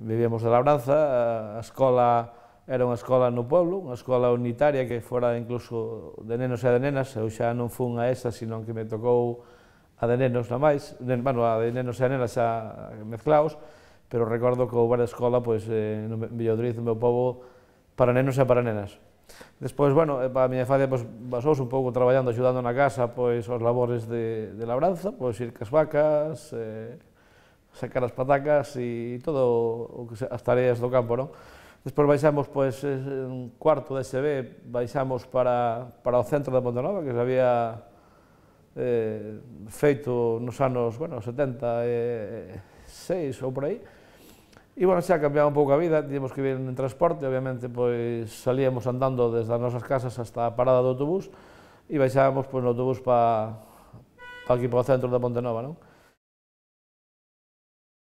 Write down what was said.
Vivíamos de labranza, a escola era unha escola no pueblo, unha escola unitaria que fora incluso de nenos e de nenas, eu xa non fun a esa, sino que me tocou a de nenos na máis, bueno, a de nenos e a nenas xa mezclaos, pero recordo que houbera escola, pois, no Villodriz, no meu pobo, para nenos e para nenas. Despois, bueno, para a miña infancia, pois, basouse un pouco traballando, axudando na casa, pois, os labores de labranza, pois, ir cas vacas, sacar as patacas e todo as tareas do campo, non? Despois baixamos, pois, en cuarto de SB, baixamos para o centro de Pontenova, que se había feito nos anos, bueno, 76 ou por aí. E, bueno, xa cambiaba un pouco a vida, tiñamos que vir en transporte, obviamente, pois, salíamos andando desde as nosas casas hasta a parada do autobús e baixábamos, pois, no autobús para aquí, para o centro de Pontenova, non?